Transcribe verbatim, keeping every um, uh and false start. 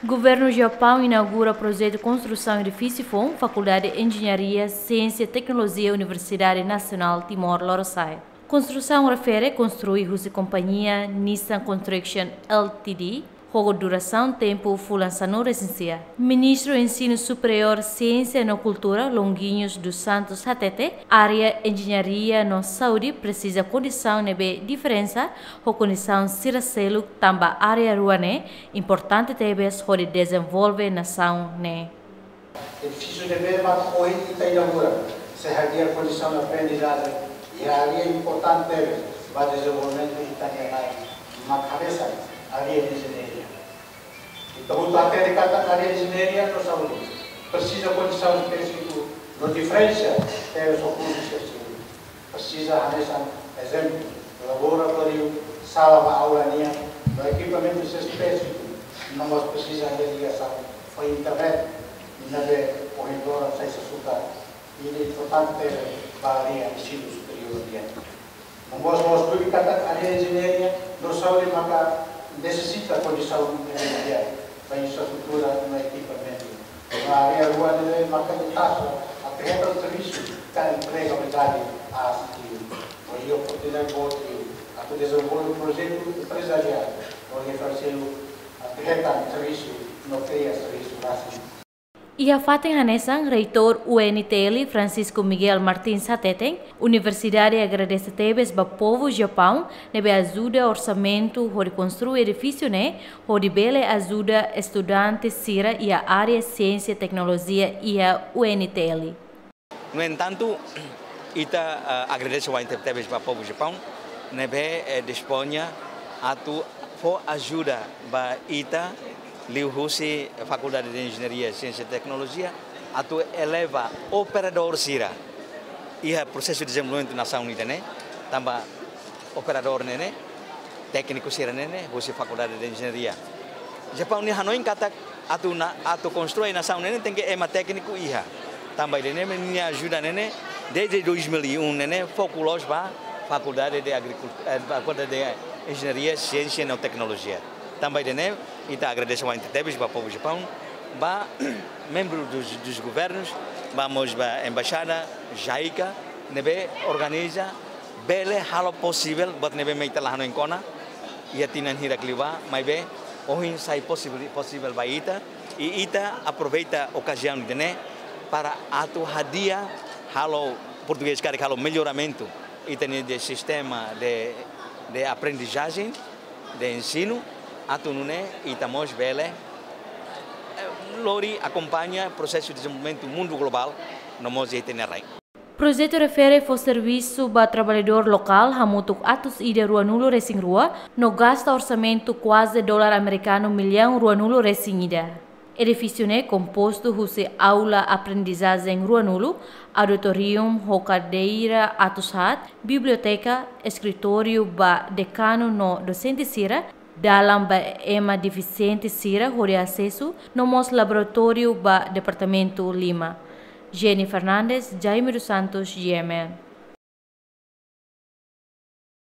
Governu Japaun inaugura projetu konstrusaun edifísiu foun Fakuldade Enjeñaria, Siénsia, Teknolojia, Universidade Nasionál Timor Lorosa'e. Konstrusaun refere konstrui husi kompañia Nissan Construction L T D, ho durasaun tempu fulan sanulu-resin-sia. Ministru Ensinu Superiór, Siénsia no Kultura, Longuinhos dos Santos, hatete, área enjeñaria no saúde presiza kondisaun ne'ebé diferensa ho kondisaun sira seluk, tanba área rua ne'e importante tebes hodi dezenvolve nasaun ne'e. Edifísiu ne'ebé mak ohin ita inaugura, sei hadi'a kondisaun aprendizajen iha área importante tebes ba dezenvolvimentu ita-nia rai, mak hanesan área enjeñaria. Ita hotu hatene katak área enjeñaria no saúde presiza kondisaun espesífiku no diferensa tebes ho kursu sira seluk. Presiza hanesan ezemplu, laboratóriu, sala ba aula nian, no ekipamentu espesífiku, no mós presiza ligasaun ho internet, ne'ebé ohin loron sai sasuta, ida importante ba área ensinu superiór nian. No mós, mós tuir katak área enjeñaria no saúde maka nesesita kondisaun enjeñaria ba infraestrutura no ekipamentu. No área rua ne'e maka ita só atu hetan servisu ka empregabilidade ba sira. No iha oportunidade boot atu dezenvolve projetu emprezariál, no refere atu hetan servisu no kria servisu rasik. Iha fatin hanesan, Reitór U N T L, Francisco Miguel Martins hateten, universidade agradese tebes ba povu Japaun ne'ebé ajuda orsamentu hodi konstrui edifísiu ne'e, hodi bele ajuda estudante sira iha área siénsia teknolojia iha U N T L. No entantu, ita, eh, agradese barak tebes ba povu Japaun ne'ebé, eh, dispoña atu fó ajuda ba ita liuhusi Fakuldade de Enjeñaria, Siénsia e Teknolojia atu eleva operadór sira iha prosesu dezenvolvimentu nasaun ida-ne'e, tanba operadór ne'e ne'e, tékniku sira ne'e ne'e, husi Fakuldade de Enjeñaria. Japaun nia hanoin katak atu na, atu konstrui nasaun ne'e ne'e tenke ema tékniku iha. Tanba ida-ne'e nia ajuda ne'e ne'e, desde dois mil e um ne'e ne'e, foku loos ba Fakuldade de Agricult-, eh, Fakuldade de Enjeñaria, Siénsia no Teknolojia. Tanba ida-ne'e, ita agradese barak tebes ba povu Japaun, ba membru dos, dos governus, ba mós ba embaixada, JICA, ne'ebé organiza, bele halo posivel, buat ne'ebé mak ita la hanoin kona, iha tinan hirak liubá, maibé, ohin sai posivel, posivel ba ita, i ita aproveita okaziaun ida-ne'e, para atu hadi'a, halo, portugés karik halo melloramentu, ita-nia de sistema de, de aprendizajen, de ensinu, atu nune'e ita mós bele, eh, lori akompaña prosesu dezenvolvimentu mundu globál, no mós iha ita-nia rai. Projetu refere fó servisu ba traballadór lokál hamutuk atus ida ruanulu-resin-rua, no gasta orsamentu kuaze dolar amerikanu millaun ruanulu-resin-ida. Edifísiu ne'e kompostu husi aula aprendizajen ruanulu, auditorium ho kadeira atus haat, biblioteka, eskritóriu ba dekanu no dosente sira, dalan ba ema defisiente sira hodi asesu, no mós laboratóriu ba departamentu lima. Jenny Fernandes, Jaime dos Santos, G M N.